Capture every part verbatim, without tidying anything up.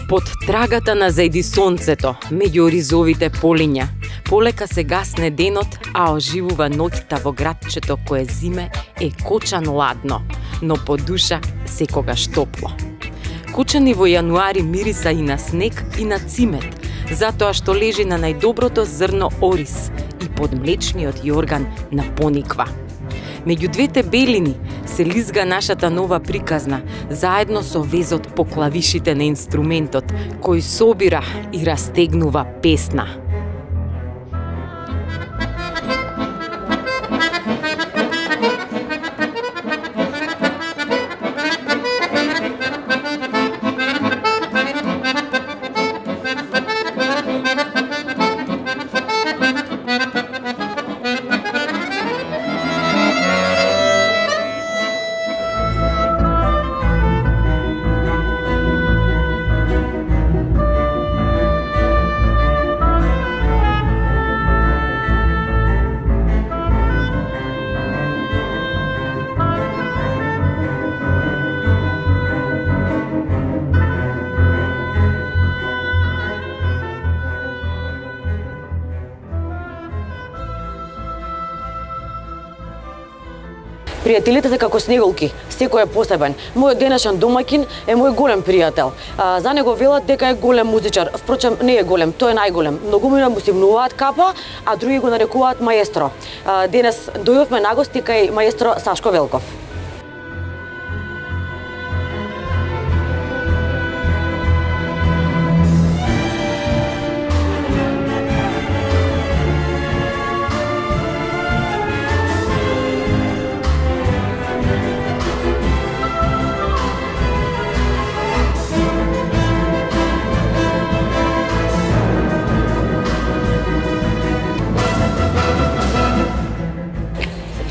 Под трагата на зајди сонцето, меѓу оризовите полиња, полека се гасне денот, а оживува ноќта во градчето кое зиме е кочан ладно, но по душа секогаш топло. Кочани во јануари мириса и на снег и на цимет, затоа што лежи на најдоброто зрно ориз и под млечниот јорган на пониква. Меѓу двете белини се лизга нашата нова приказна, заедно со везот по клавишите на инструментот, кој собира и растегнува песна. Пријателите се како снеголки, секој е посебен. Мојот денешен домаќин е мој голем пријател. А, за него велат дека е голем музичар. Впрочем, не е голем, тој е најголем. Многумина му симнуваат капа, а други го нарекуваат маестро. А, денес дојдовме на гости кај маестро Сашко Велков.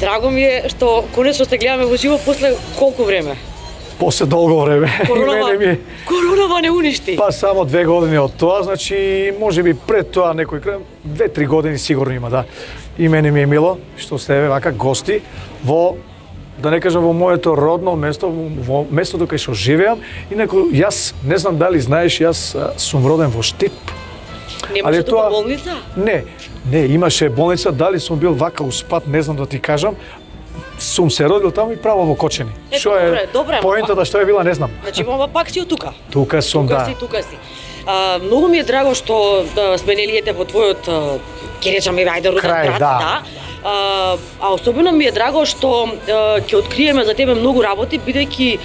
Драго ми е што конечно се гледаме во живо после колку време? После долго време. Коронава, и мене ми... коронава не уништи. Па само две години од тоа, значи можеби пред тоа некој крај, две-три години сигурно има, да. И мене ми е мило што сте еве вака гости во, да не кажам, во моето родно место, во местото кај што живеам. Инаку јас не знам дали знаеш, јас сум роден во Штип. Немаше тука болница? Не, не, имаше болница, дали сум бил вака успат, не знам да ти кажам. Сум се родил таму и право во Кочани. Што е, добре, поентата што е била, не знам. Значи, мама пак си од тука. Тука сум, тука да. Си, тука си. А, многу ми е драго што да, сме нелиете во твојот, ќе речам, ајде, роден град, да. да. А, а особено ми е драго што ќе откриеме за тебе многу работи, бидејќи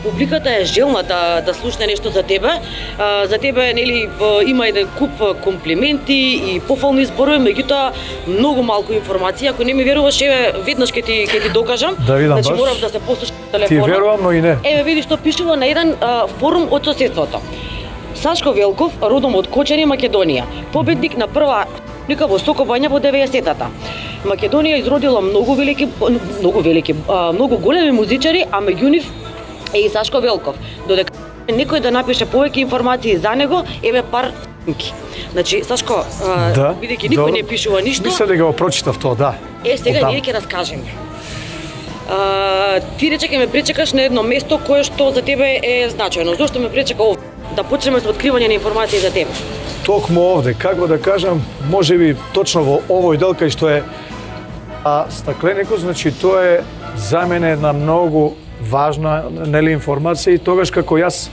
публиката е желна да да слушне нешто за тебе. А, за тебе нели има еден куп комплименти и пофални зборови, меѓутоа многу малку информација. Ако не ми веруваш, еве веднаш ќе ти ќе ти докажам. Да видам, значи баш. морам да се послушам телефонот. Ти верувам, но и не. Еве види што пишува на еден а, форум од соседството. Сашко Велков, родом од Кочани, Македонија. Победник на прва лика во Сокобања во деветдесетата. Македонија изродила многу велики, многу велики, многу големи музичари, а меѓу нив е и Сашко Велков. Додека некој да напише повеќе информации за него, еве пар снимки. Значи, Сашко, да, бидејќи никој не пишува ништо, мислам дека го прочитав тоа, да. Е, сега ние ќе раскажеме. А, ти рече ќе ме пречекаш на едно место кое што за тебе е значајно. Зошто ме пречека овде? Да почнеме со откривање на информации за тебе. Токму овде, како да кажам, можеби точно во овој дел кај што е а стакленикот, значи тоа е за мене една многу важна, нели, информација, и тогаш како јас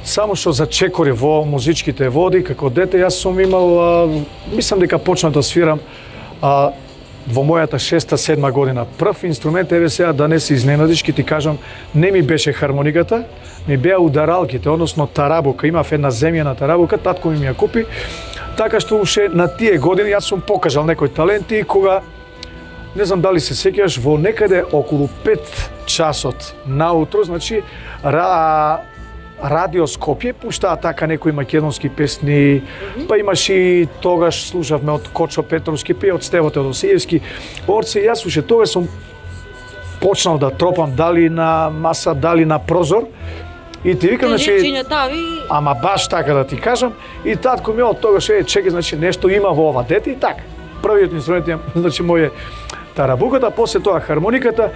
само што зачекори во музичките води, како дете јас сум имал, а, мислам дека почнав да свирам а, во мојата шеста седма година. Прв инструмент, еве сега да не се изненадиш, ќе ти кажам, не ми беше хармониката, ми беа ударалките, односно тарабука. Имав една земјана тарабука, татко ми ја купи. Така што уште на тие години јас сум покажал некои таленти и кога, не знам дали се сеќаваш, во некаде околу пет часот наутро, значи ра, Радио Скопје пуштаа така некои македонски песни, mm -hmm. па имаш и тогаш слушавме од Кочо Петровски, па и од Стево Теодосиевски. Орце, јас уште тогаш сум почнал да тропам дали на маса, дали на прозор. И ти викам, значи, ама баш така да ти кажам, и татко ми од тогаш е, чекај, значи нешто има во ова дете и така. Првиот инструмент е, значи, мој тарабуката, после тоа хармониката,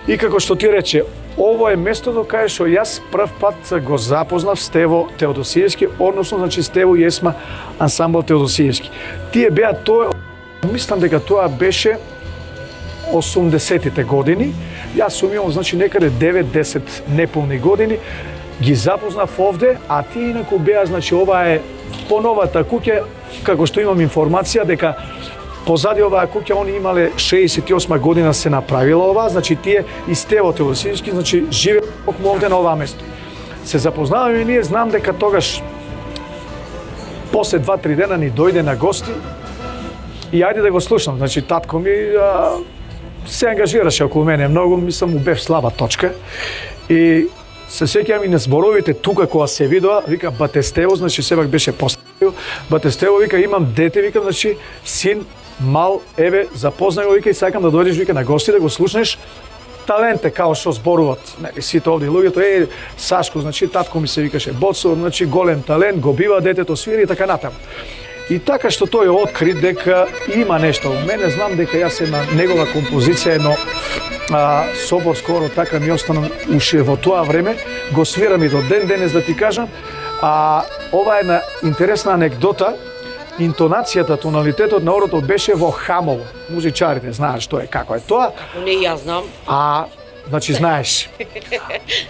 и како што ти рече, ово е местото кај што јас прв пат го запознав Стево Теодосиевски, односно, значи, Стево и Есма ансамбл Теодосиевски. Тие беа тоа, мислам дека тоа беше осумдесетите години, јас сум имал, значи, некаде девет-десет неполни години, ги запознав овде, а тие инаку беа, значи, ова е поновата куќа, како што имам информација дека позади оваа куќа они имале шеесет и осма година се направила ова, значи тие и Стево Теодосиевски, значи живе токму овде на оваа место. Се запознаваме и ние, знам дека тогаш после два-три дена ни дојде на гости и ајде да го слушам. Значи татко ми а, се ангажираше околу мене многу, мислам му бев слаба точка и се сеќавам и на зборовите тука кога се видоа, вика бате Стево, значи сепак беше поставил, бате Стево, вика имам дете, вика, значи син мал, еве, запознај го, вика, и сакам да дојдеш, вика, на гости да го слушнеш таленте, као што зборуват, нели, сите овде луѓето, е, Сашко, значи, татко ми се викаше Боцо, значи, голем талент, го бива детето, свири и така натаму. И така што тој откри дека има нешто у мене, знам дека јас една негова композиција, едно а, собор скоро така ми остана уште во тоа време, го свирам и до ден денес да ти кажам, а ова е една интересна анекдота. Интонацијата, тоналитетот на орото беше во хамово. Музичарите знаат што е, како е тоа. Како не јас знам. А, значи знаеш.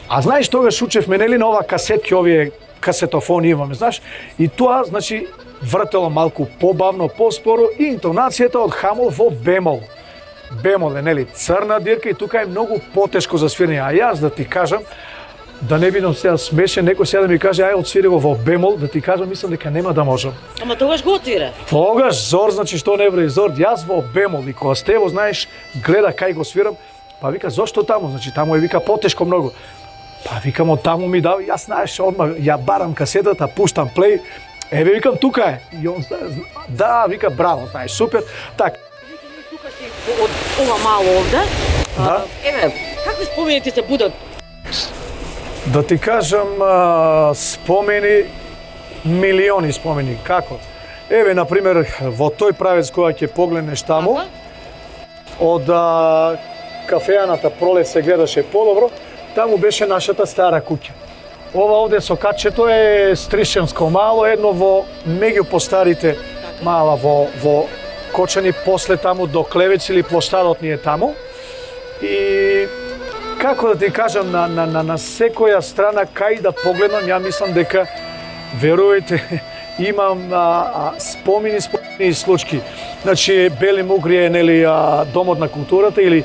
А знаеш тогаш учевме нели на ова касетки, овие касетофони имаме, знаеш? И тоа, значи, вртело малку побавно, поспоро и интонацијата од хамол во бемол. Бемол е, нели, црна дирка и тука е многу потешко за свирење. А јас да ти кажам, да не бидам сега смешен, некој сега да ми каже ај отсвири го во бемол, да ти кажам, мислам дека нема да можам. Ама тогаш го отсвира. Тогаш Зор, значи што не бре Зор, јас во бемол и кога Стево, знаеш, гледа кај го свирам, па вика зошто таму, значи таму е вика потешко многу. Па викам од таму ми дава, јас знаеш, одма ја барам касетата, пуштам плей, еве викам тука е. И он да, вика браво, знаеш, супер. Така. Тука си од ова мало овде. Да. Еве, какви спомени ти се будат? Да ти кажам, а, спомени, милиони спомени. Како? Еве, например, во тој правец кога ќе погледнеш таму, ага, од а, кафејаната Пролет се гледаше подобро, таму беше нашата стара куќа. Ова овде со качето е Стришенско мало, едно во меѓу постарите мала во, во Кочани, после таму до Клевец или площадот ни е таму. И како да ти кажам, на, на, на, на секоја страна кај да погледнам, ја мислам дека, верувајте, имам а, а, спомени, спомени и случки. Значи, Бели Мугри е, нели, а, домот на културата или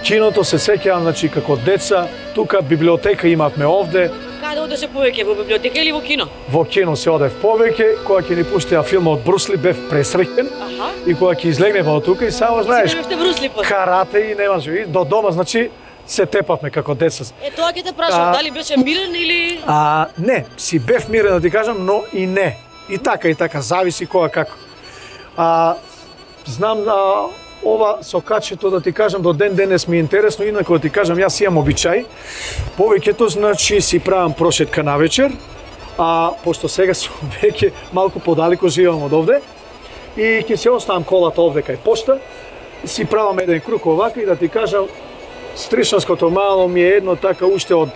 киното, се сеќавам, значи, како деца, тука библиотека имавме овде. Каде одеше повеќе, во библиотека или во кино? Во кино се одев повеќе, кога ќе ни пуштија филмот Брусли, бев пресреќен. Аха. И кога ќе излегнеме од тука и само знаеш, карате и немаше. И до дома, значи, се тепавме како деца. Е, тоа ќе те прашам, дали беше мирен или... А, не, си бев мирен, да ти кажам, но и не. И така, и така, зависи кога како. А, знам, а, ова со качето, да ти кажам, до ден денес ми е интересно, инако да ти кажам, јас имам обичај. Повеќето, значи, си правам прошетка на вечер, а пошто сега сум веќе малку подалеку живеам од овде, и ќе се оставам колата овде кај пошта, си правам еден круг овака и да ти кажам, Стришанското мало ми е едно така уште од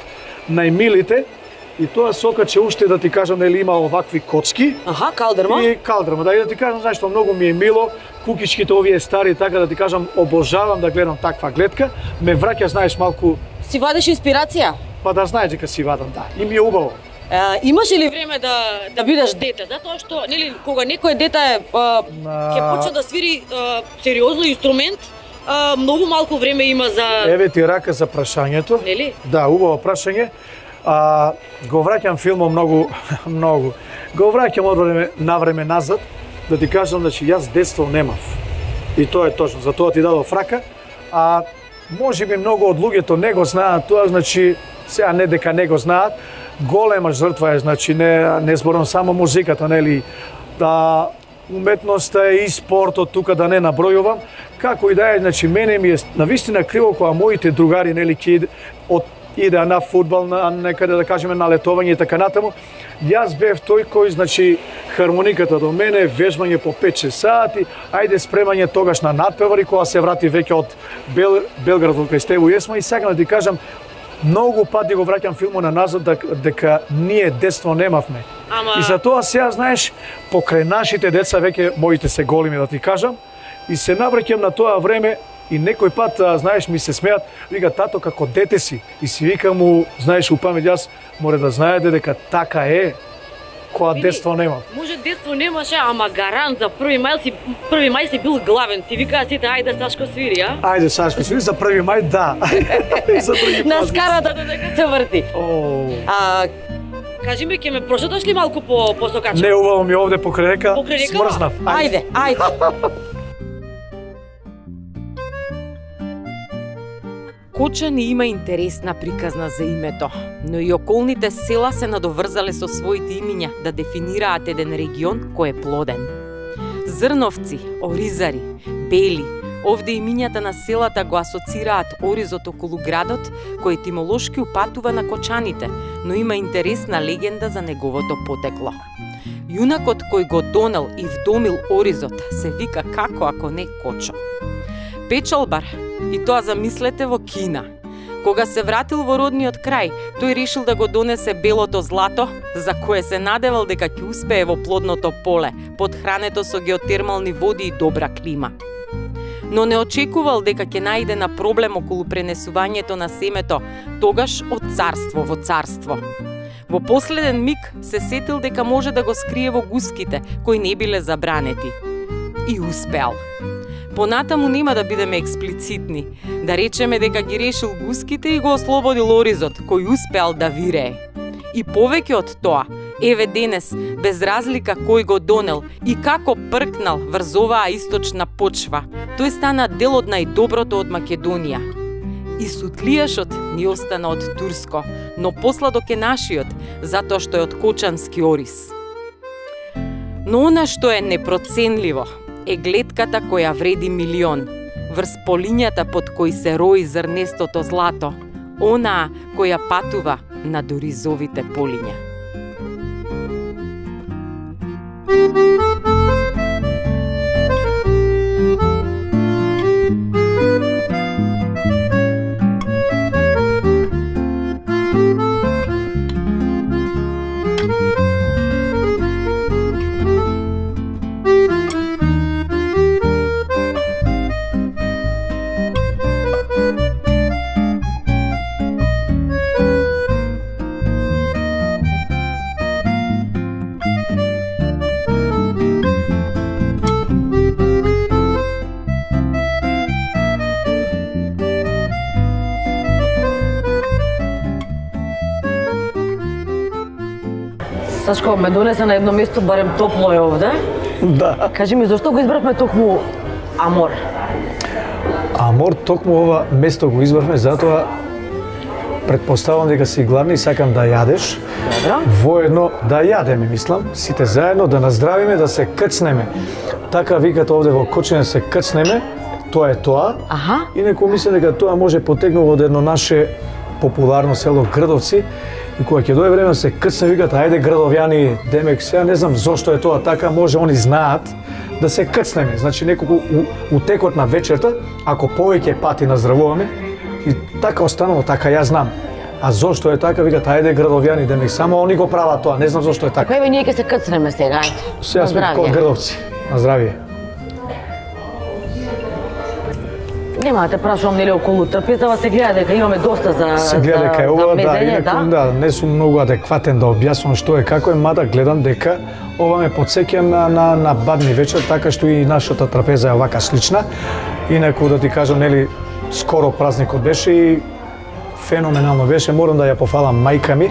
најмилите, и тоа сокаче уште, да ти кажам, нели има овакви коцки. Аха, калдрма. И калдрма, да, и да ти кажам, знаеш што, многу ми е мило, кукичките овие стари, така да ти кажам, обожавам да гледам таква гледка, ме враќа, знаеш, малку... Си вадиш инспирација? Па да знаеш дека си вадам, да, и ми е убаво. А, имаше ли време да да бидеш дете? Затоа што нели кога некое дете е а, ќе почне да свири а, сериозно инструмент, а, многу малку време има за Еве ти рака за прашањето. Нели? Да, убаво прашање. А, го враќам филмот многу многу. Го враќам од време на време назад да ти кажам, значи јас детство немав. И тоа е точно, за тоа ти дадов рака. А може би многу од луѓето не го знаат тоа, значи сега не дека не го знаат, голема жртва е, значи не не зборам само музиката, нели, да уметноста е и спортот, тука да не набројувам, како и да е, значи мене ми е навистина криво кога моите другари, нели, ќе од иде на фудбал, на некаде да кажеме на летовање и така натаму. Јас бев тој кој, значи, хармониката до мене, вежбање по пет-шест сати, ајде спремање тогаш на надпевари кога се врати веќе од Бел, Белград во кај Стево Јесма, и сакам да ти кажам, многу пати го враќам филмот на назад дека ние детство немавме. Ама... И за тоа сега, знаеш, покрај нашите деца, веќе моите се големи да ти кажам, и се навраќам на тоа време. И некој пат, а, знаеш, ми се смеат, вика, тато, како дете си. И си вика му, знаеш, у памет, јас море да знаете дека така е, кога детство нема. Може детство немаше, ама гарант за први мај си први мај си бил главен. Ти викаа сите, ајде Сашко свири, а? Ајде Сашко свири, за први мај, да. За први на скарата додека се врти. О. А, кажи ми, ќе ме прошеташ ли малку по по сокача? Не, убаво ми овде покрај река. Покрај река? Смрзнав. Ајде, ајде. Кочани има интересна приказна за името, но и околните села се надоврзале со своите имиња да дефинираат еден регион кој е плоден. Зрновци, оризари, бели, овде имињата на селата го асоцираат оризот околу градот, кој етимолошки упатува на кочаните, но има интересна легенда за неговото потекло. Јунакот кој го донел и вдомил оризот се вика како ако не Кочо. Печалбар, и тоа замислете во Кина. Кога се вратил во родниот крај, тој решил да го донесе белото злато, за кое се надевал дека ќе успее во плодното поле, подхрането со геотермални води и добра клима. Но не очекувал дека ќе најде на проблем околу пренесувањето на семето, тогаш од царство во царство. Во последен миг се сетил дека може да го скрие во гуските, кои не биле забранети. И успеал. Понатаму нема да бидеме експлицитни, да речеме дека ги решил гуските и го ослободил оризот, кој успеал да вирее. И повеќе од тоа, еве денес, без разлика кој го донел и како пркнал врз оваа источна почва, тој стана дел од најдоброто од Македонија. И сутлијашот ни остана од турско, но посладок е нашиот, затоа што е од кочански ориз. Но она што е непроценливо, е глетката која вреди милион, врз полињата под кои се рои зрнестото злато, онаа која патува на оризовите полиња. Сашко, ме донесе на едно место, барем топло е овде. Да. Кажи ми, зашто го избравме токму Амор? Амор, токму ова место го избравме, затоа предпоставам дека си гладни и сакам да јадеш. Добро. Воедно да јадеме, мислам, сите заедно, да наздравиме, да се кцнеме. Така викат овде во Кочани, се кцнеме, тоа е тоа. Аха. И некој мисли дека тоа може потекнува од едно наше популарно село Грдовци. И кога ќе дое време да се кцне, викат, ајде градовјани, демек, сега не знам зошто е тоа така, може они знаат да се кцнеме. Значи неколку у, у текот на вечерта, ако повеќе пати наздравуваме, и така останало, така ја знам. А зошто е така, викат, ајде градовјани, демек, само они го прават тоа, не знам зошто е така. Еве ние ќе се кцнеме сега, ајде. Сега сме кон Грдовци. На здравје. нема да те прашувам нели околу трпезава, се гледа дека имаме доста за се гледа дека е ова, да, инаку, да, не сум многу адекватен да објаснам што е како е, мада гледам дека ова ме потсеќа на, на, на бадни вечер, така што и нашата трапеза е вака слична. Инаку да ти кажам, нели, скоро празникот беше и феноменално беше, морам да ја пофалам мајка ми,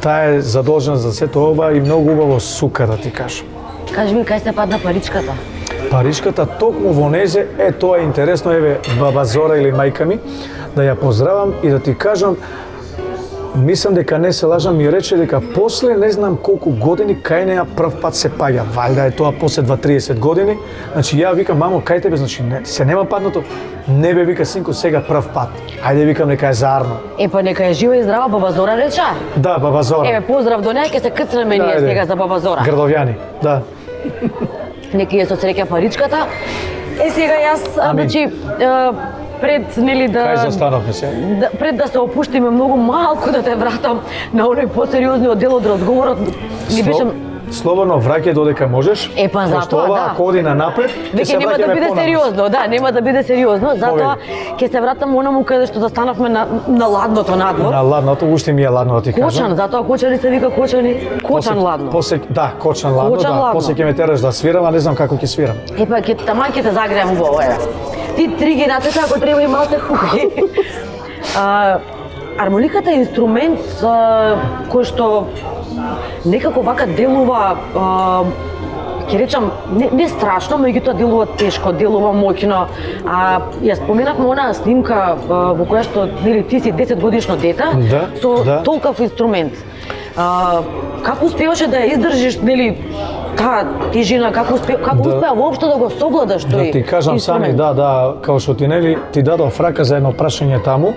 таа е задолжена за сето ова и многу убаво сука, да ти кажам. Кажи ми, кај се падна паричката? Паричката токму во незе, е тоа е интересно, еве баба Зора или мајка ми, да ја поздравам и да ти кажам, мислам дека не се лажам, ми рече дека после не знам колку години кај неа прв пат се паѓа. Валјда е тоа после дваесет години. Значи ја викам, мамо, кај тебе, значи не, се нема паднато. Не бе, вика, синко, сега прв пат. Ајде, викам, нека е заарно. Е, па нека е жива и здрава, баба Зора реча. Да, баба Зора. Еве, поздрав до неа, ќе се кцнеме ние сега за баба Зора. Грдовјани, да. Нека е со среќа паричката. Е, сега јас, значи, пред нели да Кај застанавме се? Да, пред да се опуштиме многу малку да те вратам на оној посериозниот дел од разговорот, ни беше слободно враќај додека можеш. Е, па затоа, да. Ако оди на напред, веќе нема да биде сериозно, да, нема да биде сериозно, затоа ќе се вратам онаму каде што застанавме на, на ладното надвор. На ладното, уште ми е ладно да ти кажам. Кочан, затоа Кочани се вика Кочани, Кочан после, ладно. После, да, Кочан ладно, Кочан да, ладно. после ќе ме тераш да свирам, а не знам како ќе свирам. Е, па ќе таман ќе те загреам во ова. Ти три ги натета, ако треба и малце хуки. А, армониката е инструмент а, кој што некако вака делува, а, ќе речам, не, не страшно, меѓутоа делува тешко, делува моќно. А ја споменавме онаа снимка а, во која што нели ти си десет годишно дете, да, со да. толков инструмент. А, како успеваше да ја издржиш, нели, таа тежина, како успеа, како да, успеа воопшто да го совладаш тој? Да ти кажам инструмент? сами, да, да, као што ти нели ти дадов рака за едно прашање таму,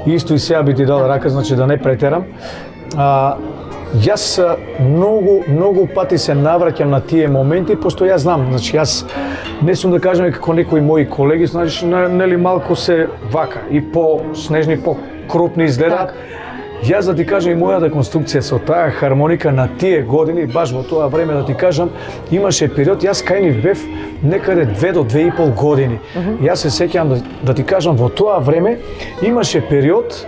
исто и сега би ти дал рака, значи да не претерам. А, јас многу, многу пати се навраќам на тие моменти, пошто јас знам, значи јас не сум да кажам како некои мои колеги, значи нели малку се вака и по снежни, по крупни изгледаат. Так. Јас да ти кажам и мојата конструкција со таа хармоника на тие години, баш во тоа време да ти кажам, имаше период, јас кај нив бев некаде две до две и пол години. Uh -huh. Јас се сеќавам да, да ти кажам, во тоа време имаше период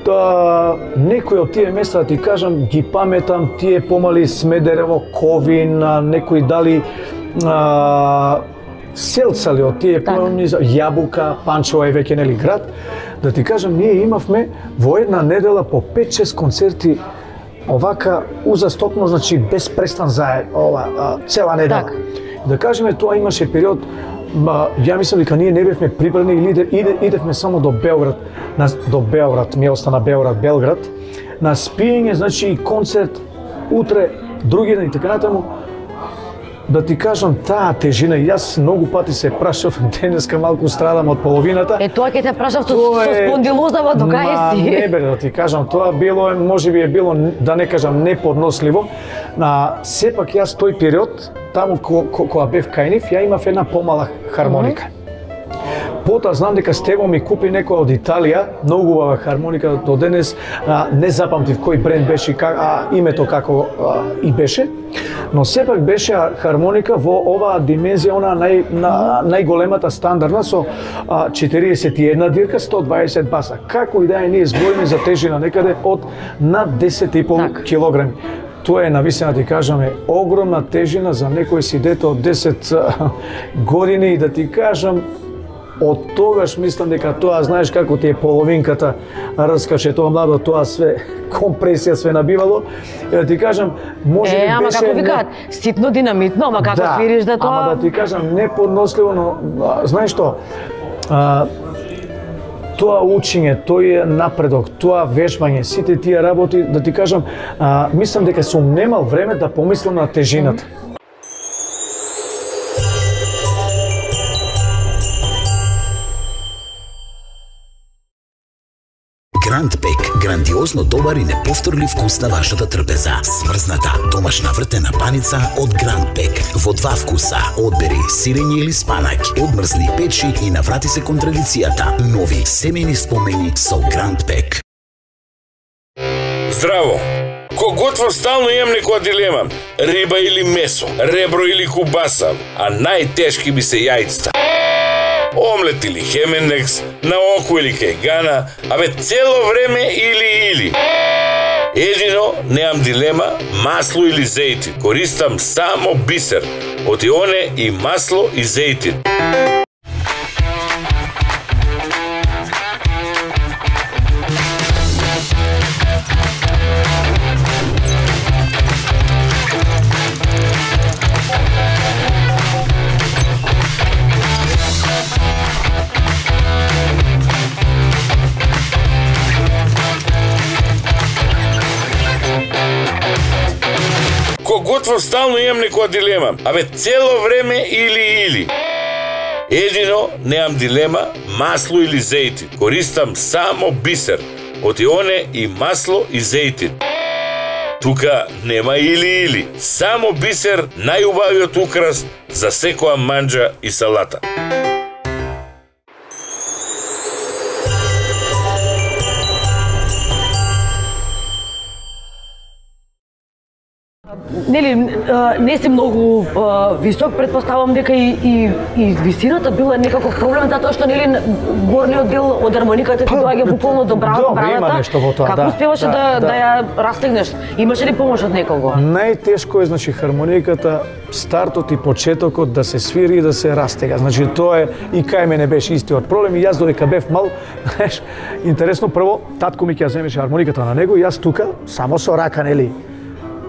да некои од тие места, да ти кажам, ги паметам, тие помали Смедерево, Ковин, некои дали а, Селцали од тие помали, Јабука, Панчево е веќе нели град. Да ти кажам, ние имавме во една недела по пет-шест концерти овака узастопно, значи без престан за ова а, цела недела. Так. Да кажеме, тоа имаше период, ма, ја мислам дека ние не бевме прибрани или иде, иде, идевме само до Белград, на, до Белград, ми остана Белград, Белград, на спиење, значи концерт утре, други ден и така натаму. Да ти кажам, таа тежина, јас многу пати се прашав, денеска малку страдам од половината. Е, тоа ќе те прашав со, со спондилозава до кај си. Не бе, да ти кажам, тоа било, можеби е било, да не кажам, неподносливо. На сепак јас тој период, таму ко, ко, кога бев кај нив, ја имав една помала хармоника. Mm -hmm. Потоа знам дека Стево ми купи некоја од Италија, многу убава хармоника, до денес а, не запамтив кој бренд беше, как, а, името како а, и беше, но сепак беше хармоника во оваа димензија, она нај, на, најголемата стандардна со а, четириесет и една дирка, сто дваесет баса. Како и да е, ние збориме за тежина некаде од над десет и пол килограми. Тоа е, навистина ти кажаме, огромна тежина за некој си дете од десет години и да ти кажам, од тогаш мислам дека тоа, знаеш како ти е половинката раскаше тоа младо, тоа све компресија све набивало. И да ти кажам, може би е, ама беше како викаат, не... ситно динамитно, ама како да, свириш да тоа... Ама да ти кажам, неподносливо, но а, знаеш што? А, тоа учење, тој напредок, тоа вежбање, сите тие работи, да ти кажам, а, мислам дека сум немал време да помислам на тежината. Mm-hmm. Грандпек, грандиозно добар и неповторлив вкус на вашата трпеза. Смрзната, домашна вртена паница од Грандпек. Во два вкуса, одбери сирење или спанак, одмрзни печи и наврати се кон традицијата. Нови семејни спомени со Грандпек. Здраво! Ко готвам стално имам некоја дилема. Риба или месо, ребро или кубаса, а најтешки би се јајцата. омлет или хемендекс, на око или кајгана, абе цело време или-или. Едино, немам дилема, масло или зејтин. Користам само бисер. Од ионе и масло и зејтин. Готвам стално имам некоја дилема. Абе цело време или-или. Едино, немам дилема, масло или зејтин. Користам само бисер. Од ионе и масло и зејтин. Тука нема или-или. Само бисер, најубавиот украс за секоја манџа и салата. Нели, не си многу висок, предпоставам дека и, и, и висината била некаков проблем, затоа што нели горниот дел од армониката ти доаѓа буквално до бра, Добро, брадата. има нешто во тоа, Како да. успеваше да, Да, да, да. ја растегнеш? Имаше ли помош од некого? Најтешко е, значи, хармониката, стартот и почетокот да се свири и да се растега. Значи, тоа е и кај мене беше истиот проблем и јас додека бев мал, знаеш, интересно, прво, татко ми ќе ја земеше хармониката на него и јас тука, само со рака, нели,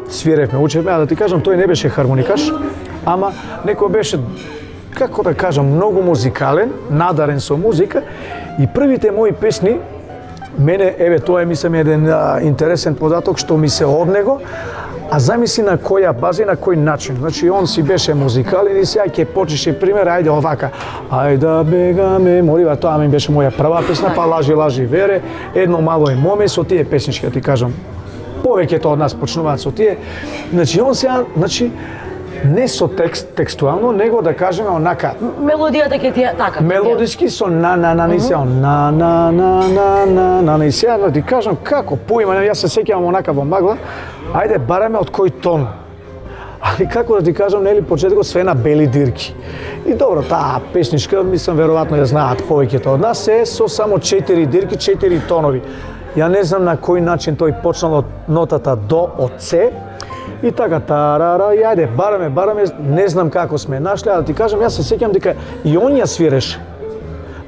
свиревме, учевме, а да ти кажам, тој не беше хармоникаш, ама некој беше, како да кажам, многу музикален, надарен со музика и првите мои песни, мене, еве, тоа е, мислам, еден а, интересен податок што ми се од него, а замисли на која база и на кој начин. Значи, он си беше музикален и сега ќе почеше пример, ајде овака, ајде да бегаме, молива, тоа ми беше моја прва песна, па лажи, лажи, вере, едно мало е моме, со тие песнички, да ти кажам, повеќето од нас почнуваат со тие. Значи, он сега, значи, не со текст, текстуално, него да кажеме онака. Мелодијата ќе ти е така. Мелодиски со на на на на сега, на на на на на на на сега, да ти кажам како поима, јас се сеќавам онака во магла. Ајде бараме од кој тон. Али како да ти кажам, нели почетокот све на бели дирки. И добро, таа песничка, мислам веројатно ја знаат повеќето од нас, е со само четири дирки, четири тонови. Ја не знам на кој начин тој почнал од нотата до, од С, и така, тарара, и ајде, бараме, бараме, не знам како сме нашли, а да ти кажам, јас се сеќам дека и он ја свиреше.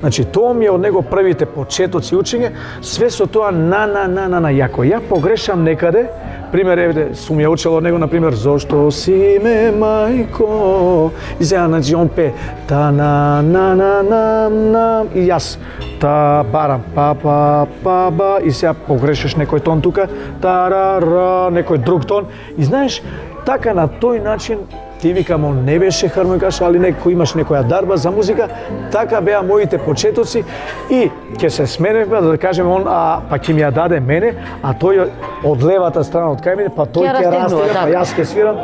Значи, тоа ми е од него првите почетоци учење, све со тоа на, на, на, на, на, јако. Ја погрешам некаде, пример, еве, сум ја учел од него, например, зошто си ме мајко, и сега, значи, он пе, та, на, на, на, на, на, и јас, та, барам, па, па, па, ба, и сега погрешиш некој тон тука, тарара, некој друг тон, и знаеш, така на тој начин, ти викам, он не беше хармоникаш, али некој имаш некоја дарба за музика, така беа моите почетоци и ќе се сменевме, да кажеме, он, а, па ќе ми ја даде мене, а тој од левата страна од кај мене, па тој ќе растега, па јас ќе свирам.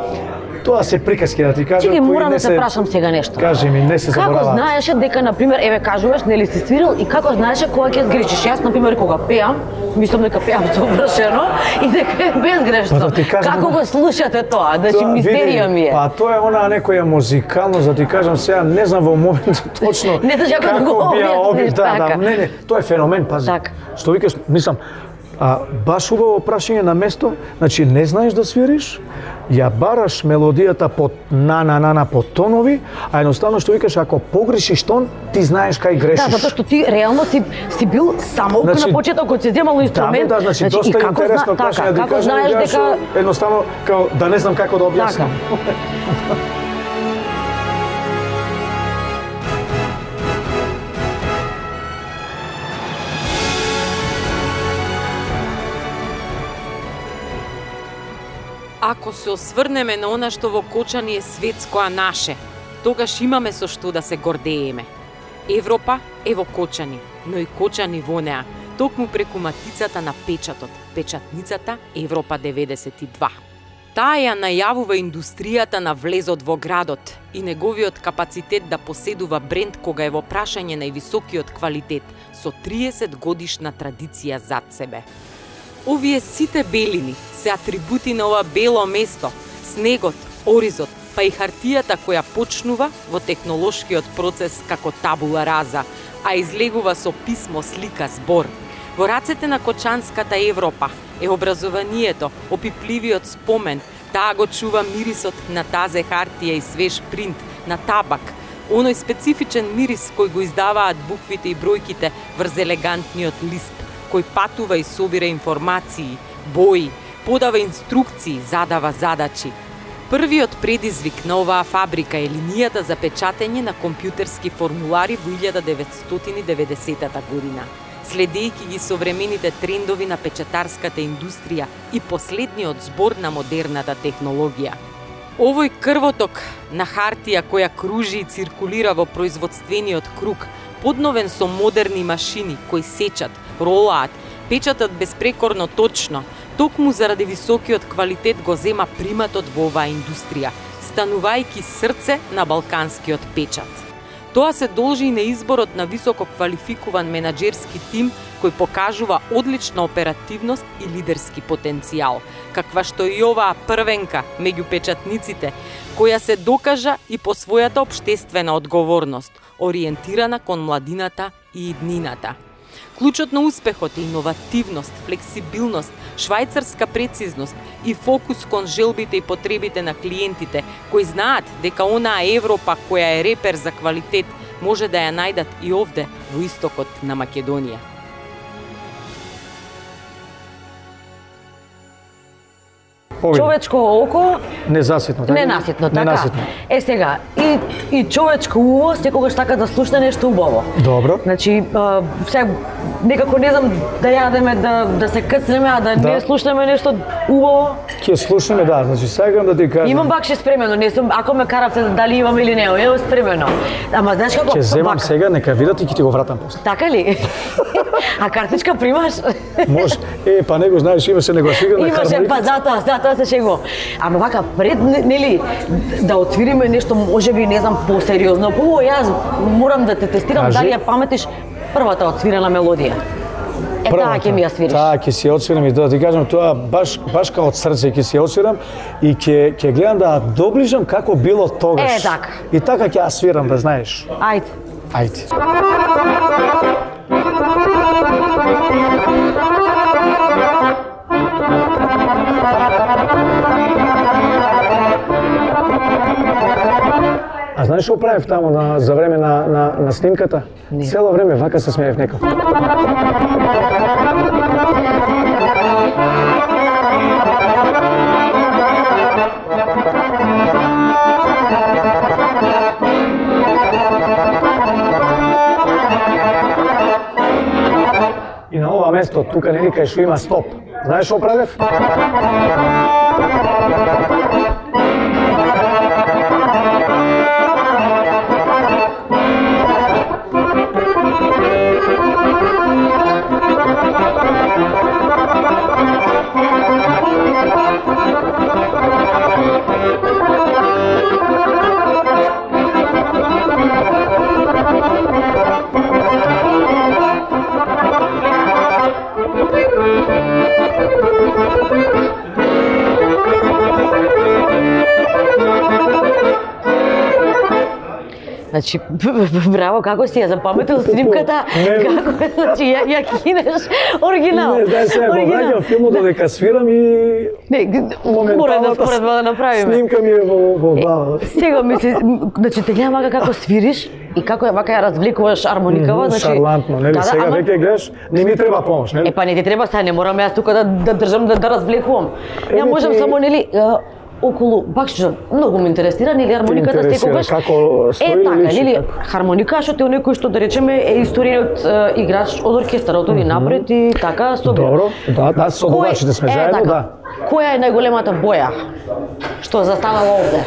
Тоа се приказки, да ти кажам, Чеки, кои морам не да се... те прашам сега нешто. Кажи ми, не се забораваат. Како знаеше дека, например, еве кажуваш, нели си свирил, и како знаеше кога ќе сгрешиш? Јас, например, кога пеам, мислам дека пеам совршено и дека е безгрешно. Па да ти кажам, Како го слушате тоа? Значи, Тоа, мистерија види, ми е. Па тоа е она некоја музикалност, да ти кажам сега, не знам во моментот точно Не знаеш како да го би ја објасниш, објасниш, да, да, така. не, не, тоа е феномен, пази. Така. Што викаш, мислам, а, баш убаво прашање на место, значи не знаеш да свириш, ја бараш мелодијата под на на на на под тонови, а едноставно што викаш, ако погрешиш тон, ти знаеш кај грешиш. Да, затоа што ти реално си си бил само Значи, на почетокот си земал инструмент. Да, да, значи, и доста како интересно зна- прашање, така, да ти како кажам, знаеш јас дека едноставно као да не знам како да објаснам. Ако се осврнеме на она што во Кочани е светско, а наше, тогаш имаме со што да се гордееме. Европа е во Кочани, но и Кочани во неа, токму преку матицата на печатот, печатницата Европа деветдесет и два. Таа ја најавува индустријата на влезот во градот и неговиот капацитет да поседува бренд кога е во прашање највисокиот квалитет со триесет годишна традиција зад себе. Овие сите белини се атрибути на ова бело место, снегот, оризот, па и хартијата која почнува во технолошкиот процес како табула раза, а излегува со писмо, слика, збор. Во рацете на кочанската Европа е образованието, опипливиот спомен, таа го чува мирисот на тазе хартија и свеж принт, на табак, оној специфичен мирис кој го издаваат буквите и бројките врз елегантниот лист, кој патува и собира информации, бои, подава инструкции, задава задачи. Првиот предизвик на оваа фабрика е линијата за печатење на компјутерски формулари во илјада деветстотини и деветдесетата година. Следејќи ги современите трендови на печатарската индустрија и последниот збор на модерната технологија. Овој крвоток на хартија која кружи и циркулира во производствениот круг, подновен со модерни машини кои сечат, ролаат, печатат безпрекорно точно, токму заради високиот квалитет го зема приматот во оваа индустрија, станувајќи срце на балканскиот печат. Тоа се должи и на изборот на високо квалификуван менаџерски тим кој покажува одлична оперативност и лидерски потенцијал, каква што и оваа првенка меѓу печатниците, која се докажа и по својата општествена одговорност, ориентирана кон младината и иднината. Клучот на успехот е иновативност, флексибилност, швајцарска прецизност и фокус кон желбите и потребите на клиентите, кои знаат дека онаа Европа која е репер за квалитет може да ја најдат и овде во истокот на Македонија. Човечко око незаситно, така? Ненаситно, така. Ненаситно. Е сега, и и човечко уво секогаш така да слушне нешто убаво. Добро. Значи, а, сега некако не знам да јадеме, да да се кцнеме, а да, да. не слушнеме нешто убаво. Ќе слушнеме, да, значи сакам да ти кажам. Имам бакши спремено, не сум, ако ме каравте дали имам или не, имам спремено. Ама знаеш како? Ќе земам бак... сега, нека видат и ќе ти го вратам после. Така ли? А картичка примаш? Може. Е, па него знаеш, имаше негласигана хармоника. Имаше, па затоа, затоа се шегувам. Ама вака пред, нели, да отвириме нешто, можеби, не знам, посериозно. Пво, јас морам да те тестирам. Кажи. Дали ја паметиш првата отсвирена мелодија. Е, таа ќе ми ја свириш. Таа ќе си ја отсвирам и да ти кажам, тоа баш баш као од срце ќе си ја отсвирам и ќе ќе гледам да доближам како било тогаш. Е, така. И така ќе ја свирам, да знаеш. Ајде. Ајде. А знаеш што правев таму на, за време на, на, на снимката? Не. Цело време вака се смеев некако. И на ова место, тука нели кај што има стоп. Знаеш што правев? Значи, браво, како си ја запаметил снимката, како, значи, ја, ја кинеш оригинал. Не, дај се, го враќам филмот додека свирам и не, мора да споредба да направиме. Снимка ми е во, во глава. Сега мисли, значи, те гледам вака како свириш и како ја вака ја развлекуваш армоникава, значи... Шарлантно, нели, да, сега ама... веќе гледаш, не ми треба помош, нели? Е, па не ти треба, сега не морам јас тука да, да држам, да, да развлекувам. Ја можам ти... само, нели, околу, бак што многу ме интересира, нели, армониката секогаш... Како стои е, така, личи, нели, како? хармоникашот е некој што, да речеме, е историјот е, играч од оркестарот, оди напред и така, собира. Добро, да, да, со дувачите сме заедно, така, да. Која е најголемата боја што застанала овде?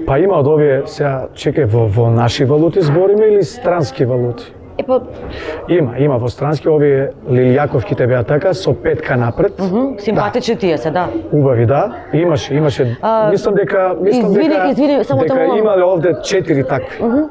Па има од овие, сега, чекај, во, во наши валути збориме или странски валути? Е, па... Има, има во странски, овие лилијаковките беа така, со петка напред. Mm -hmm, симпатични да. Тие се, да. Убави, да. Имаше, имаше, а, мислам дека, мислам извини, дека, извини, само дека тоа... имале овде четири такви. Mm -hmm.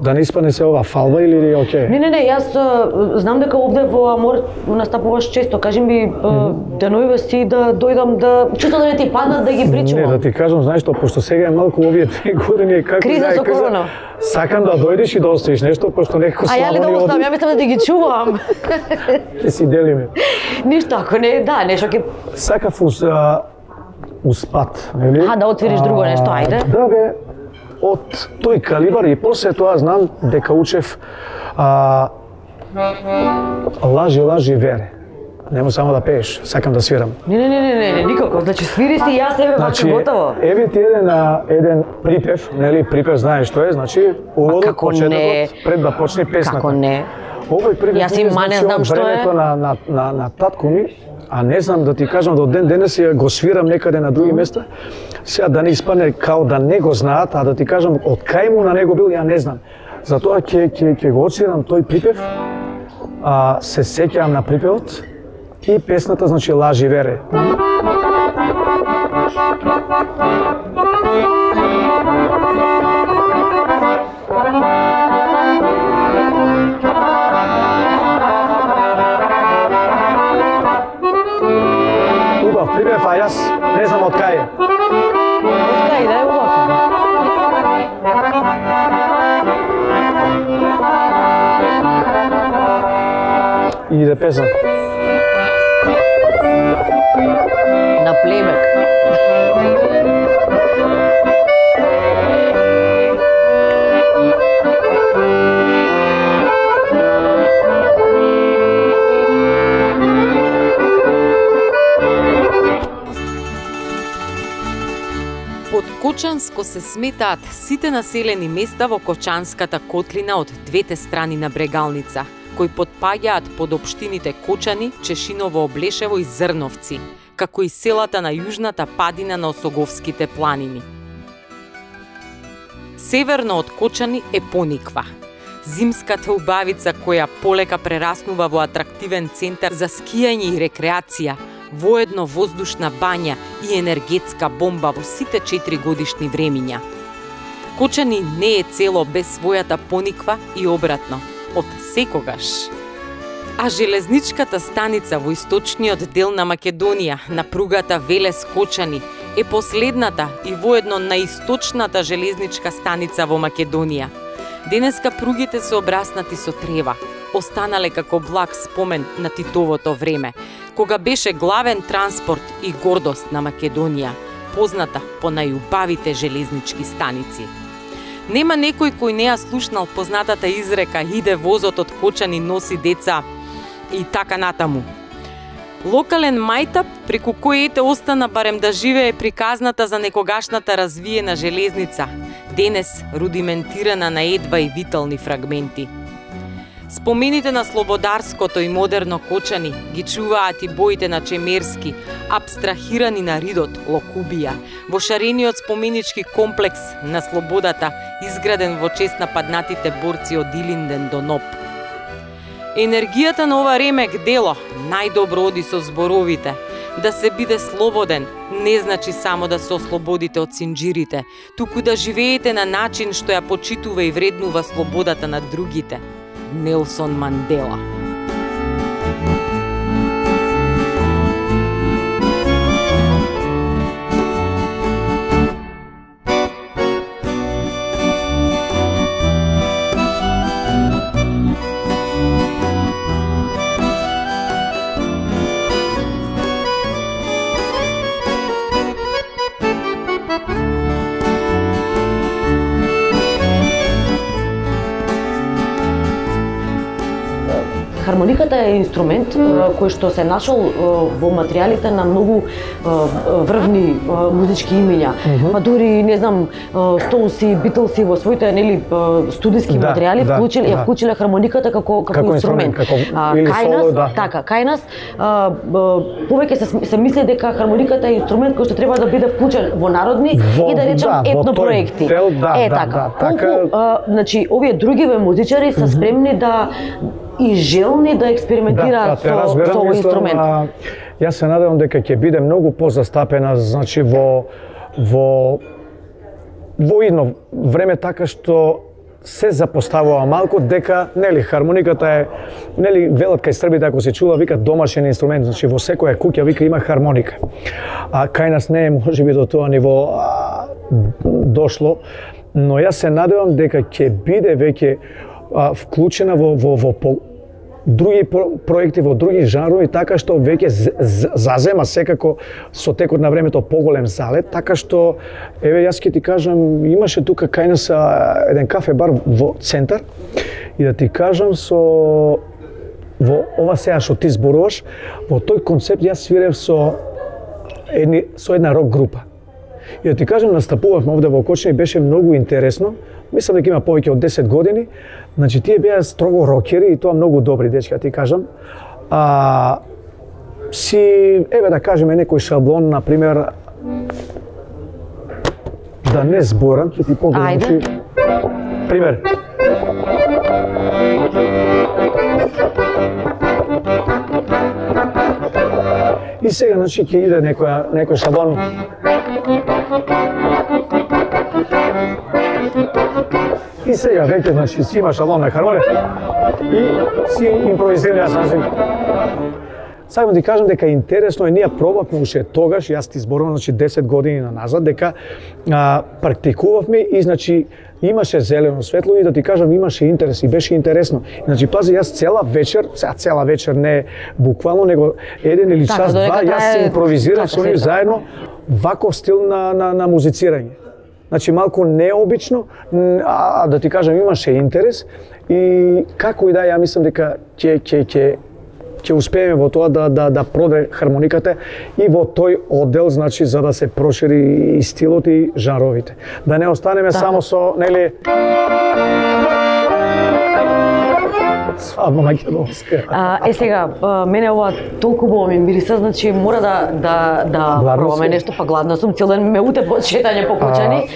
да не испадне се ова фалба или окей? Не, не, не, јас а, знам дека овде во Амор настапуваш често. Кажи ми а, деновиве си да дојдам да чисто да не ти паднат да ги причувам. Не, да ти кажам, знаеш што, пошто сега е малку овие две години како криза со корона. Сакам да дојдеш и да оставиш нешто, пошто некако слабо. А ја ли да оставам? Ја мислам да ги чувам. Ќе си делиме. Ништо, ако не, да, нешто ќе сакав уз успат, нели? А да отвориш друго нешто, ајде. Да бе, од тој калибар и после тоа знам дека учев а, лажи, лажи, вере. Нема само да пееш, сакам да свирам. Не, не, не, не, не, никако. Значи свири си јас еве вака готово. Еве ти еден еден припев, нели? Припев знаеш што е, значи уводот почетокот пред да почне песната. Како не? Овој припев јас и мане знам што е. Времето на на на на татко ми, а не знам да ти кажам до ден денес ја го свирам некаде на други места. Сега да не испадне као да не го знаат, а да ти кажам од кај му на него бил, ја не знам. Затоа ќе ќе ќе го отсвирам тој припев. А се сеќавам на припевот и песната значи лажи вере. Убав припев, а јас не знам од кај е. Од кај да е убав. Иде песен. На плейбек. Под Кочанско се сметаат сите населени места во Кочанската котлина од двете страни на Брегалница, кои потпаѓаат под општините Кочани, Чешиново, Облешево и Зрновци, како и селата на јужната падина на Осоговските планини. Северно од Кочани е Пониква, зимската убавица која полека прераснува во атрактивен центар за скијање и рекреација, воедно воздушна бања и енергетска бомба во сите четири годишни времиња. Кочани не е цело без својата Пониква и обратно, од секогаш. А железничката станица во источниот дел на Македонија, на пругата Велес-Кочани, е последната и воедно наисточната железничка станица во Македонија. Денеска пругите се обраснати со трева, останале како благ спомен на Титовото време, кога беше главен транспорт и гордост на Македонија, позната по најубавите железнички станици. Нема некој кој не ја слушнал познатата изрека "Иде возот од Кочани носи деца" и така натаму. Локален мајтап преку кој ете остана барем да живее приказната за некогашната развиена железница, денес рудиментирана на едва и витални фрагменти. Спомените на Слободарското и модерно Кочани ги чуваат и боите на Чемерски, абстрахирани на ридот Локубија, во шарениот споменички комплекс на Слободата, изграден во чест на паднатите борци од Илинден до Ноп. Енергијата на ова ремек дело најдобро оди со зборовите. Да се биде слободен не значи само да се ослободите од синџирите, туку да живеете на начин што ја почитува и вреднува слободата на другите. Нелсон Мандела. Хармониката е инструмент кој што се нашол во материјалите на многу врвни музички имиња. Па дури не знам Стоунси, Битлси во своите нели студиски да, материјали да, вклучиле да. ја вклучиле хармониката како како, како инструмент. Како, а, или кај соло, нас, да. така, кај нас а, повеќе се, се мисли дека хармониката е инструмент кој што треба да биде вклучен во народни во, и да речем да, етно проекти. Дел, да, е да, така. Да, Колку, така... а, значи овие другиве музичари се спремни да и желни да експериментираат да, да, со, со овој инструмент. А, јас се надевам дека ќе биде многу позастапена, значи во во во едно време така што се запоставува малку дека нели хармониката е нели велат кај србите ако се чула вика домашен инструмент, значи во секоја куќа вика има хармоника. А кај нас не е можеби до тоа ниво а, дошло, но јас се надевам дека ќе биде веќе а, вклучена во во во по, други про, проекти во други жанрови, така што веќе зазема секако со текот на времето поголем залет, така што еве јас ќе ти кажам, имаше тука кај нас еден кафе бар во центар и да ти кажам со во ова сега што ти зборуваш, во тој концепт јас свирев со едни со една рок група. И да ти кажам, настапувавме овде во Кочани, беше многу интересно. Мислам дека има повеќе од десет години. Значи, тие беа строго рокери и тоа многу добри дечки, ти кажам. А, си, еве да кажеме некој шаблон, например, да не зборам, ќе ти погледам. Ајде. Пример. И сега, значи, ќе иде некоја, некој шаблон. И сега веќе, значи, си има шаблон на хармония и си импровизира, јас значи. Сакам да ти кажам дека интересно е, ние пробавме уште тогаш, јас ти зборувам, значи, десет години назад, дека а, практикувавме и, значи, имаше зелено светло и да ти кажам, имаше интерес и беше интересно. Значи, пази, јас цела вечер, сега цела вечер не буквално, него еден или час, два, јас се импровизирав со нив заедно ваков стил на, на, на музицирање. Значи, малку необично, а да ти кажам, имаше интерес и како и да, ја мислам дека ќе ќе ќе ќе успееме во тоа да да да проде хармониката и во тој оддел, значи, за да се прошири и стилот и жанровите. Да не останеме да. само со, нели, свадба македонска. А, е сега, мене ова толку убаво ми мириса, значи мора да да да пробаме нешто, па гладна сум, цел ден ме утепо шетање по Кочани.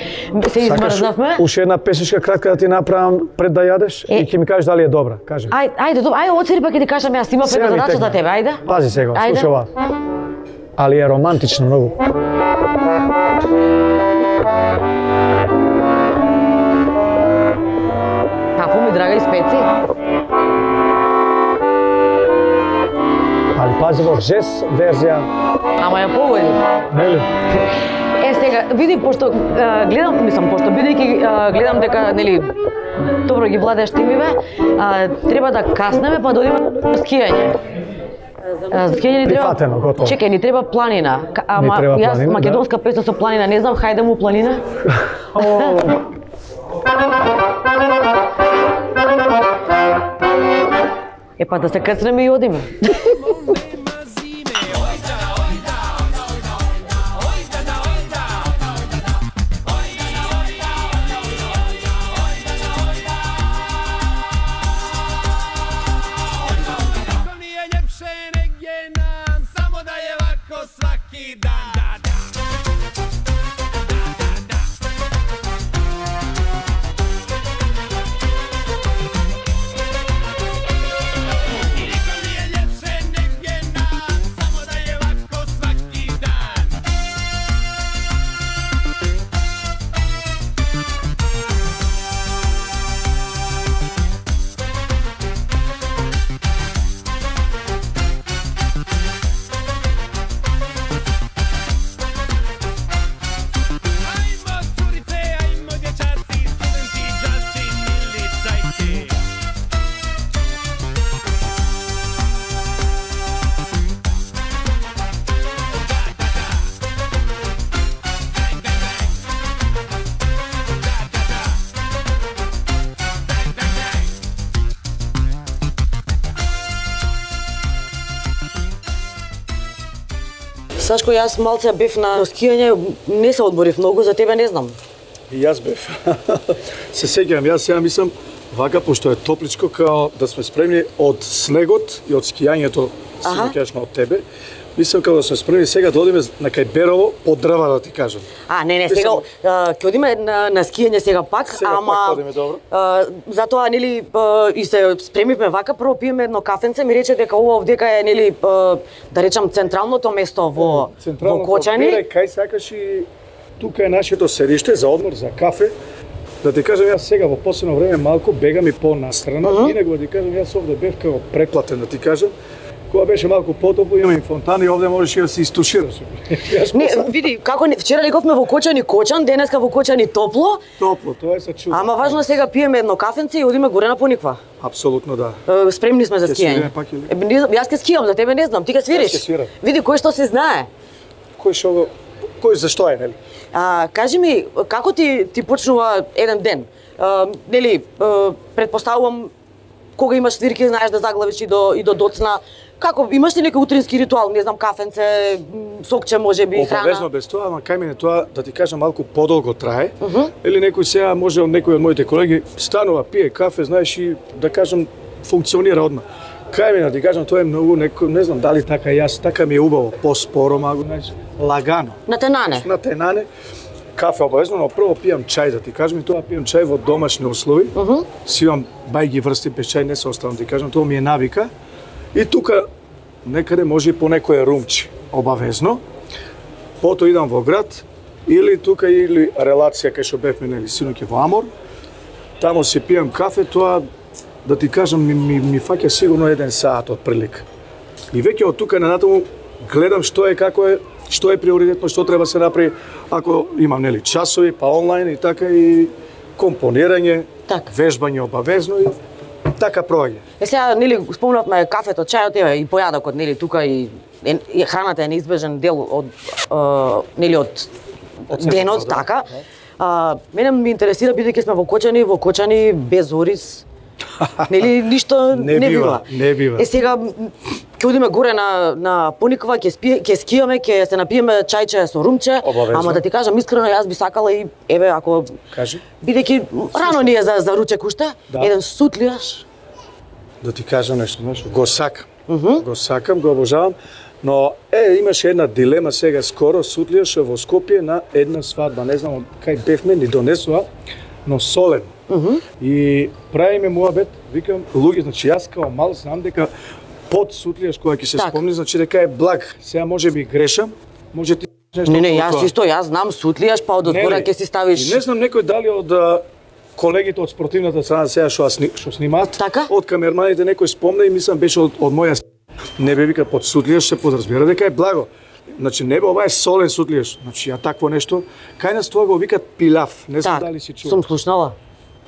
Се измрзнавме. Уште една песничка кратка да ти направам пред да јадеш е... и ќе ми кажеш дали е добра, кажи. Ајде, ајде, добро, ајде оцери па ќе ти кажам, јас имам пред задача за тебе, ајде. Пази сега, слушај ова. Али е романтично многу. Како ми драга и специ? Али пази во жес верзија. Ама ја погоди. Нели? Е сега, види, пошто а, гледам, мислам, пошто бидејќи гледам дека, нели, добро ги владееш тимиве, а, треба да каснеме па да одиме на скијање. За скијање ни треба. Прифатено, готово. Чекај, ни треба планина. Ама треба јас планина, македонска да. песна со планина не знам, хајде му планина. Е па да се кацнеме и одиме. Сашко, јас малце бев на скијање, не се одборив многу, за тебе не знам. И јас бев. Се сеќавам, јас сега мислам, вака, пошто е топличко, као да сме спремни од снегот и од скијањето, сеќаваш од тебе, мислам као да сме спремни сега да одиме на кај Берово по дрва, да ти кажам. А, не, не, сега ќе одиме на, на скијање сега пак, сега ама пак одиме, добро. А, затоа, нели, а, и се спремивме вака, прво пиеме едно кафенце, ми рече дека ова овдека е, нели, а, да речам, централното место во, во Кочани. Кај сакаш и тука е нашето седиште за одмор, за кафе. Да ти кажам, јас сега во последно време малку бегам и по-настрана, uh -huh. инаку да ти кажам, јас овде бев како преплатен, да ти кажам. Кога беше малку потопло, има и фонтани, овде можеш и да се истушираш. Не, види, како не, вчера леговме во Кочани Кочан, денеска во Кочани топло. Топло, тоа е се чудо. Ама важно сега пиеме едно кафенце и одиме горе на Пониква. Апсолутно да. Е, спремни сме за скијање. Е, не, јас ќе скијам, за тебе не знам, ти ќе свириш. Јас ќе свирам. Види кој што се знае. Кој што кој зашто е, нели? А, кажи ми, како ти ти почнува еден ден? А, нели, а, предпоставувам кога имаш свирки, знаеш да заглавиш и до и до доцна. Како имаш ли некој утрински ритуал, не знам, кафенце, сокче, можеби храна? Обавезно без тоа, ама кај мене тоа да ти кажам малку подолго трае. Uh -huh. Или некој сега може од некој од моите колеги станува, пие кафе, знаеш и да кажам функционира одма. Кај мене да ти кажам тоа е многу некој, не знам дали така јас, така ми е убаво, поспоро, малку, знаеш, лагано. На тенане. На тенане. Кафе обавезно, но прво пијам чај, да ти кажам, и тоа пијам чај во домашни услови. Uh -huh. Си имам бајги врсти без чај, не се оставам, ти кажам, тоа ми е навика. И тука некаде може и по некој румчи, обавезно. Пото идам во град, или тука или релација кај што бевме нели синоќа во Амор. Таму си пијам кафе, тоа да ти кажам ми ми, ми фаќа сигурно еден саат од прилика. И веќе од тука на натаму гледам што е, како е, што е приоритетно, што треба се направи, ако имам нели часови, па онлайн и така и компонирање, така. Вежбање обавезно и така проаѓа. Е сега нели спомнавме кафето, чајот еве и појадокот, нели тука и, и храната е неизбежен дел од е, нели од, од денот, да, така. А, мене ме интересира бидејќи сме во Кочани, во Кочани без ориз. Нели ништо не, не бива, бива. Не бива. Е сега ќе одиме горе на на Пониква, ќе спие, ќе скијаме, ќе се напиеме чајче со румче, обавезно. Ама да ти кажам искрено, јас би сакала и еве ако кажи, бидејќи рано ни е за за ручек уште, да. Еден сутлијаш. Да ти кажам нешто, знаеш, го сакам. Uh -huh. Го сакам, го обожавам, но е имаше една дилема сега скоро, сутлијаш во Скопје на една свадба, не знам кај бевме, ни донесува, но солен. Uh -huh. И правиме муабет, викам, луѓе, значи јас као мал знам дека под сутлијаш кога ќе се так. Спомни, значи дека е благ. Сега може би грешам, може ти нешто. Не, не, јас исто, јас знам сутлијаш, па од одгоре ќе си ставиш. И не знам некој дали од колегите од спортивната страна сега што што снимаат, така? Од камерманите некој спомна и мислам беше од, од моја не бе вика под сутлијаш се подразбира дека е благо. Значи не бе ова е солен сутлијаш. Значи ја такво нешто, кај нас тоа го викат пилав. Не знам так, дали си чул. Сум слушнала.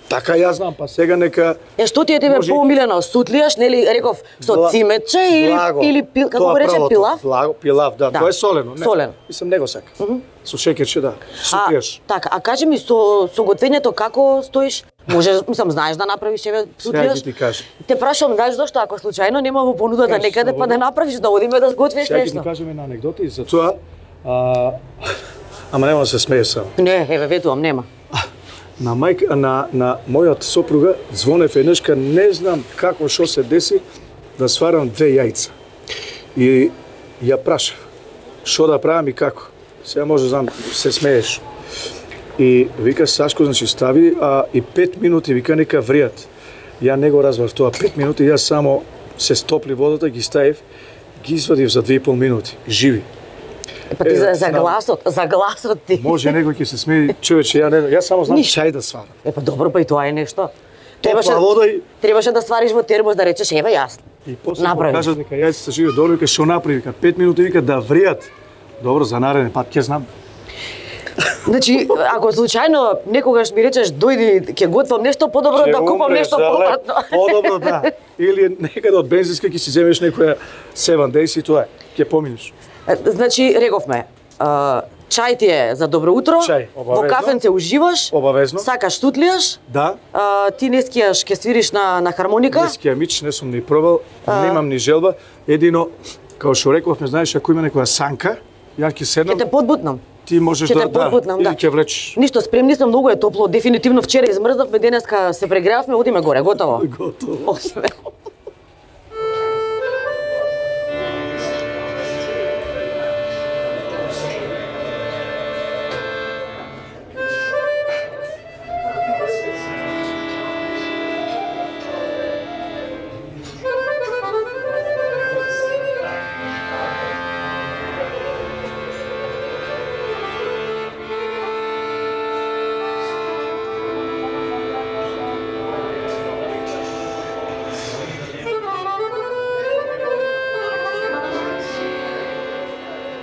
Така ја знам, па сега нека. Е што ти е тебе може... поумилено, сутлијаш, нели реков со Бла... цимече или благо. Или пил... како го рече пилав? Благо, пилав, да, да. Тоа е солено, не. Солено. Мислам него сака. Uh -huh. Со шеќерче, да. Сутлијаш. А, така, а кажи ми со со готвењето како стоиш? Може, мислам, знаеш да направиш еве сутлијаш? Сега ти кажам. Те прашувам, знаеш зошто ако случајно нема во понудата Каш, некаде па да направиш да одиме да сготвиш нешто. Сега ќе ти кажам една анегдота и за тоа. А... Ама нема да се смееш само. Не, еве ветувам, нема. На мајка на на мојот сопруга звонев еднашка, не знам како што се деси да сварам две јајца. И ја прашав што да правам и како. Сега може знам се смееш. И вика Сашко, значи стави а и пет минути вика нека вријат. Ја не го разбрав тоа пет минути, јас само се стопли водата, ги ставив, ги извадив за две и пол минути, живи. Па ти е, за, за гласот, за гласот ти. Може некој ќе се смее, човече, ја не, јас само знам Ниш. Чај да сварам. Е па добро, па и тоа е нешто. Требаше вода и требаше да свариш во термос да речеш еве јас. И после кажа дека јајцата се живе добро, вика што направи, вика пет минути вика да вријат. Добро, за нареден пат ќе знам. Значи, ако случајно некогаш ми речеш дојди ќе готвам нешто, подобро да купам нешто попратно. Подобро да. Или некаде од бензинска ќе си земеш некоја седем Days и тоа е. Ќе поминеш. Значи, рековме, чај ти е за добро утро, чај, во кафенце уживаш, обавезно. Сакаш сутлијаш, да. А, ти не скијаш, ќе свириш на, на хармоника. Не скија мич, не сум ни пробал, а... немам ни желба. Едино, као што рековме, знаеш, ако има некоја санка, ја ќе седнам. Ќе те подбутнам. Ти можеш ќе да, те подбутнам, да. Или ќе влечеш. Ништо, спремни сум, многу е топло, дефинитивно вчера измрзнавме, денеска се прегревавме, одиме горе, готово. Готово. Осме.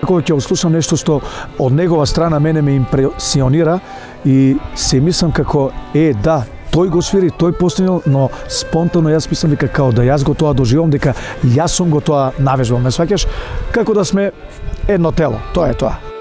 Кога ќе слушам нешто што од негова страна мене ме импресионира и се мислам како е да, тој го свири, тој постигнал, но спонтано јас мислам дека као да јас го тоа доживам, дека јас сум го тоа навежбал, ме сваќаш, како да сме едно тело, тоа е тоа.